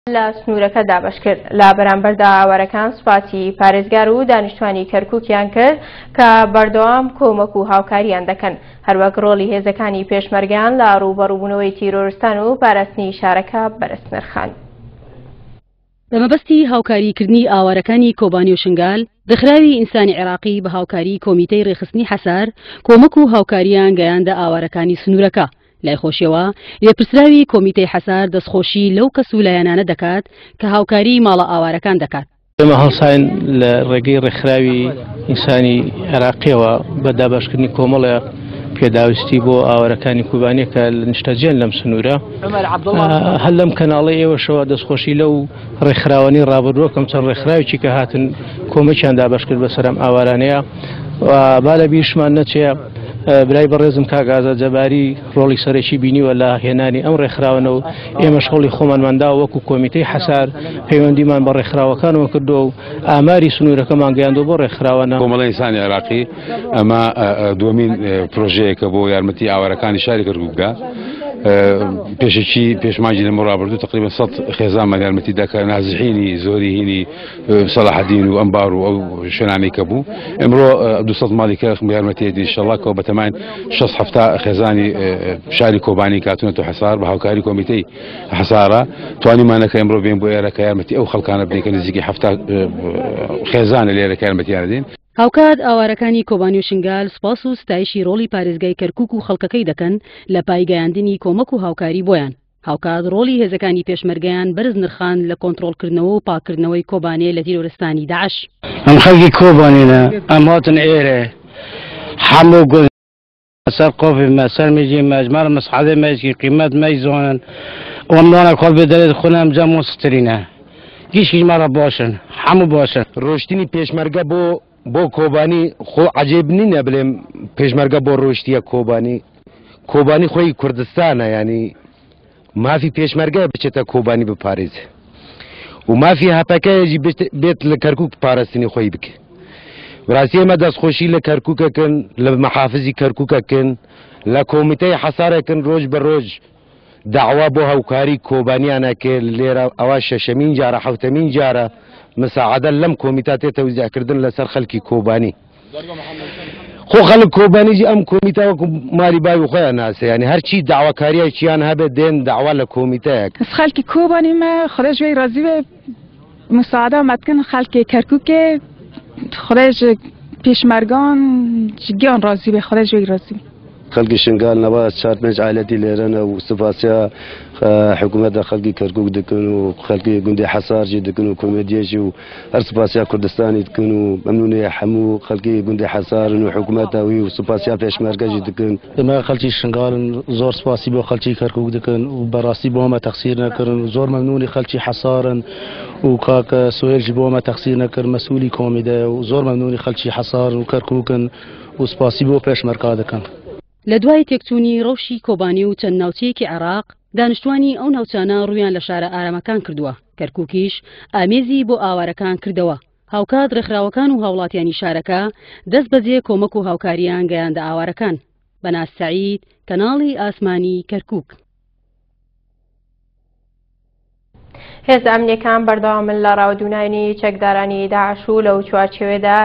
لە سنوورەکە دابەشکرد. لە بەرامبەردا ئاوارەکان سوپاسی پارێزگار و دانیشتوانی کەرکووکیان کرد کە بەردەوام کۆمەک و هاوکاریان دەکەن، هەروەک ڕۆڵی هێزەکانی پێشمەرگەیان لە ڕووبەڕووبوونەوەی تیرۆرستان و پاراستنی شارەکە بەرز نرخاند. بە مەبەستی هاوکاریکردنی ئاوارەکانی کۆبانی و شنگال، ڕێکخراوی ئینسانی عێراقی بە هاوکاری کۆمیتەی ڕێکخستنی حەسار کۆمەک و هاوکارییان گەیاندە ئاوارەکانی سنوورەکە. لای خۆشیەوە لێپرسراوی کۆمیتەی حەسار دەستخۆشی لەو کەس و لایەنانە دەکات کە هاوکاری ماڵە ئاوارەکان دەکات. ئێمە هەڵساین لە ڕێگەی ڕێکخراوی ئینسانی عێراقیەوە بە دابەشکردنی کۆمەڵە پێداویستی بۆ ئاوارەکانی کوبانیە کە نیشتەجێن لەم سنوورە. هەر لەم کەناڵی ئێوەشەوە دەستخۆشی لەو ڕێکخراوانی ڕابردووەکەم چەند ڕێکخراوێکی کە هاتن کۆمەکیان دابەشکرد بەسەر ئەم ئاوارانەیە و با لە بیرشمان نەچێ برای بەڕێزم کاک ئازاد جەباری ڕۆڵی سەرەکی بینیوە لە هێنانی ئەم ڕێکخراوەنە و ئێمەش هەوڵی خۆمانمان داوە وەکو کۆمیتەی حەسار پەیوەندیمان بە ڕێکخراوەکانەوە کردووە و ئاماری سنوورەکەمان گەیاندووە بۆ ڕێکخراوانە. کۆمەڵەی ئینسانی عێراقی ئەمە دووەمین پرۆژەیەکە بۆ یارمەتی ئاوارەکانی شاری کەرکوک بدا. پێشەکی پێش مانگی لەمە ڕابردوو تقریبا 100 خێزانمان یارمەتی دا کە نازحینی زۆری هینی سەلاحەدین و ئەنبار و ئەو شوێنانەی کە بوو ئەمڕۆ 200 ماڵی کە یارمەتی ئینشەڵڵا کە بەتەماین 6 هەفتا خێزانی شاری کۆبانی کاتونەتە حەسار بە هاوکاری کۆمیتەی حەسارە توانیمانە کە ئەمڕۆ بێن بۆ ئێرە کە یارمەتی ئەو خەڵکانە بدەین کە نزیکی 70 خێزانە لێرە کە یارمەتیان دەدەین. هاوکات ئاوارەکانی کۆبانی و شنگال سوپاس و ستایشی ڕۆڵی پارێزگای کەرکوک و خەڵکەکەی دەکەن لە پای گەیاندنی کۆمەک و هاوکاری بۆیان. هاوکات ڕۆڵی هێزەکانی پێشمەرگەیان بەرز نرخاند لە کۆنتڕۆڵکردنەوە و پاککردنەوەی کۆبانێ لە تیرۆرستانی داعش. ئەم خەڵکی کۆبانێنە، ئەم هاتن ئێرە هەموو گوند سەر قۆفی مە سەر میجی مە ژمارە مسعادێ مەیشکی قیمەت مەی زۆنن ئەم نانە کۆڵ بێ دەرێت خونە ئەم جەم و سترینە گیشکی ژمارە باشن هەموو باشن. ڕۆشتنی پێشمەرگە بۆ بۆ کۆبانی خۆ عەجیب نینە بلێم پێشمەرگە بۆ ڕۆشتیە کۆبانی کۆبانی خۆی کوردستانە یانی مافی پێشمەرگە بچێتە کۆبانی بپارێزێ و مافی هەپەکەیەژی بێت لە کەرکک پاراستنی خۆی بکە بڕاستی ئێمە دەستخۆشی لە کەرککەکەن لە محافزی کەرککەکەن لە کۆمیتەی حەسارەکەن ڕۆژ بە ڕۆژ داوا بۆ هاوکاری کۆبانیانە کرد لێرە ئەوە شەشەمین جارە حوتەمین جارە مساعدە لەم کۆمیتا تێ تەوزیعکردن لەسەر خەلکی کۆبانی خۆ خەڵک کۆبانیجی ئەم کۆمیتە وەکو ماری باوی خۆیان ناسێ یانی هەرچی داواکاریەکیان هەبێت دێن داوا لە کۆمیتەیەک. از خەلکی کۆبانی مە خودای ژوەی رازی بێ مساعدە مەتکن خەلکی کەرکوکێ خودای ژ پێشمەرگان گیان رازی بێ خودای ژوەی رازی بێ. خەلکی شنگال نەوە چار پێنج عایلەتی لێرەنە و سپاسیا حکوومەتە خەلکی کەرکوک دکن و خەلکی گوندی حەسارجی دکن و کۆمێدیەژی و هەر سپاسیا کوردستانی دکن و مەمنونی هەموو خەلکی گوندی حەسارن و حکوومەتە وی و سپاسیا پێشمەرگەژی دکن. ئێمە خەلکی شنگالن زۆر سپاسی بۆ خەلکی کەرکوک دکن و بەڕاستی بۆ مە تەقسیر نەکردن و زۆر مەمنونی خەلکی حەسارن و کاک سوهێلژی بۆ مە تەقسیر نەکرد مەسئولی کۆمیدەیە و زۆر مەمنونی خەلکی حەسارن و کەرکوکن و سپاسی بۆ پێشمەرگا دەکەن. لە دوای تێکچوونی ڕەوشی کۆبانی و چەند ناوچەیەکی عێراق، دانیشتوانی ئەو ناوچانە ڕوویان لە شارە ئارامەکان کردووە، کەرکوکیش ئامێزی بۆ ئاوارەکان کردەوە، هاوکات ڕێکخراوەکان و هاوڵاتیانی شارەکە دەستبەجێ کۆمەک و هاوکارییان گەیاندە ئاوارەکان. بەناز سەعید، کەناڵی ئاسمانی کەرکوک. هێزە ئەمنیەکان بەردەوامن لە ڕاوەدوونانی چەکدارانی داعش و لەو چوارچێوەیەدا.